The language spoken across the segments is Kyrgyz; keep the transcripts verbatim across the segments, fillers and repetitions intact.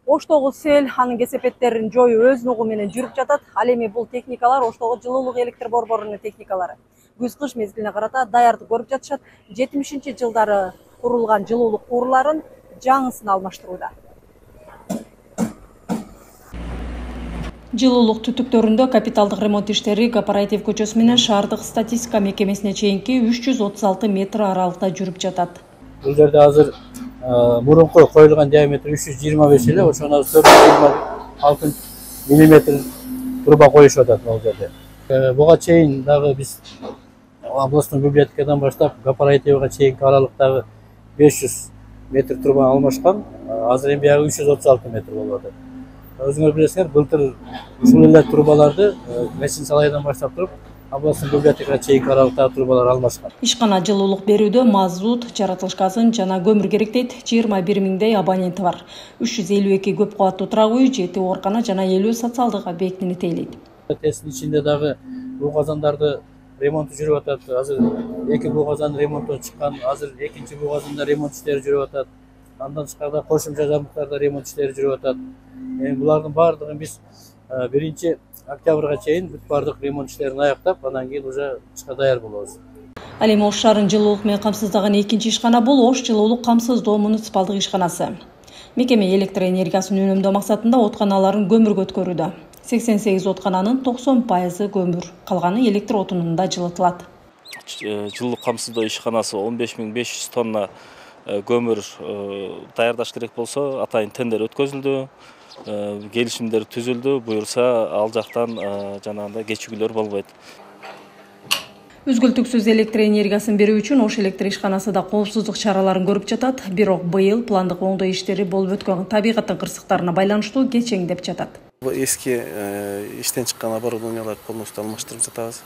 Оштогу сел анын кесепеттерин жоюу өз нугу менен жүрүп жатат. Ал эми бул техникалар Оштогу жылуулук электр борборунун техникалары. Күз-кыш мезгилине карата даярдык көрүп жатышат. жетимишинчи жылдары курулган жылуулук куурларын жаңысына алмаштырууда. Жылуулук түтүктөрүндө капиталдык ремонт иштери Кооператив көчөсү менен шаардык статистика мекемесине чейинки үч жүз отуз алты метр аралыкта жүрүп жатат. Бул жерде азыр мурунку коюлган диаметри үч жүз жыйырма беш эле, ошону төрт жүз жыйырма алты миллиметр труба коюшуп атат бул жерде. Буга чейин дагы биз областной библиотекадан баштап кооперативге чейинки аралыктагы беш жүз метр труба алмашкан. Азыр эми биягы үч жүз отуз алты метр болуп атат. Өзүңөр билесиңер, былтыр ушул эле трубаларды Месин Салайдан баштап туруп областной библиотекага чейинки аралыктагы трубалар алмашкан. Ишкана жылуулук берүүдө мазут, жаратылыш газын жана көмүр керек дейт. жыйырма бир миңдей абоненти бар. үч жүз элүү эки көп кабаттуу турак үй, жети оорукана жана элүү социалдык объектини тейлейт. Тесттин ичинде дагы буу казандарды ремонту жүрүп атат. Азыр эки буу казан ремонттон чыккан, азыр экинчи буу казанда ремонт иштери жүрүп атат. Андан тышкарыда кошумча жабдыктарда ремонт иштери жүрүп атат. Эми булардын баардыгын биз биринчи октябрга чейин бүт баардык ремонт иштерин аяктап, андан кийин уже ишке даяр болобуз. Ал эми Ош шаарын жылуулук менен камсыздаган экинчи ишкана бул Ош жылуулук камсыздоо муниципалдык ишканасы. Мекеме электр энергиясын үнөмдөө максатында отканаларын көмүргө өткөрүүдө. сексен сегиз откананын токсон пайызы көмүр, калганы электр отунунда жылытылат. Жылуулук камсыздоо ишканасы он беш миң беш жүз тонна көмүр даярдаш керек болсо, атайын тендер өткөзүлдү. Келишимдер түзүлдү, буюрса ал жактан жанагындай кечигүүлөр болбойт. Үзгүлтүксүз электр энергиясын берүү үчүн Ош электр ишканасы да коопсуздук чараларын көрүп жатат. Бирок быйыл пландык оңдоо иштери болуп өткөн табигаттын кырсыктарына байланыштуу кечеңдеп жатат. Эски иштен чыккан оборудованияларды полностью алмаштырып жатабыз.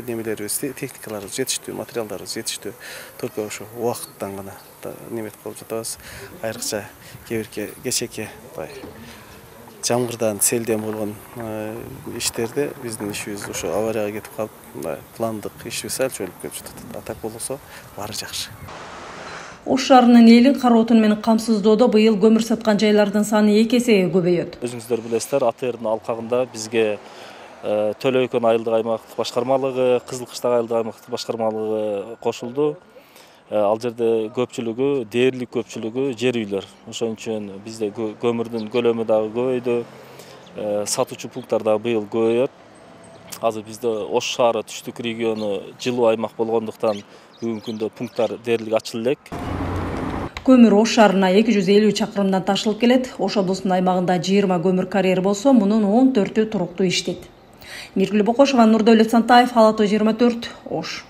Немелерибиз, техникаларыбыз жетиштүү, материалдарыбыз жетиштүү. Только ошо убакыттан гана неметип калып жатабыз. Айрыкча кээ-бирки кечээки жамгырдан, селден болгон иштерде биздин ишибиз ошо аварияга кетип калып, пландык ишибиз сәл чөйүлүп кетип жатат. А так болсо баары жакшы. Ош шаарынын эли кара отун менен камсыздоодо быйыл көмүр саткан жайлардын саны эки эсеге көбөйөт. Өзүңүздөр билесиздер, А Т Р'дин алкагында бизге Төлө Өкөн айылдык аймактык башкармалыгы, Кызыл Кыштак айылдык аймактык башкармалыгы кошулду. Ал жерде көпчүлүгү, дээрлик көпчүлүгү жер үйлөр. Ошон үчүн бизде көмүрдүн көлөмү дагы көбөйдү. Сатуучу пункттар дагы быйыл көбөйөт. Азыр бизде Ош шаары түштүк региону жылуу аймак болгондуктан бүгүнкү күндө пункттар дээрлик ачылып элек. Көмүр Ош шаарына эки жүз элүү чакырымдан ташылып келет. Ош облусунун аймагында жыйырма көмүр карьери болсо, мунун он төртү туруктуу иштейт. Миргүл Бокошова, Нурдөлөт Сантаев, Ала Тоо жыйырма төрт, Ош.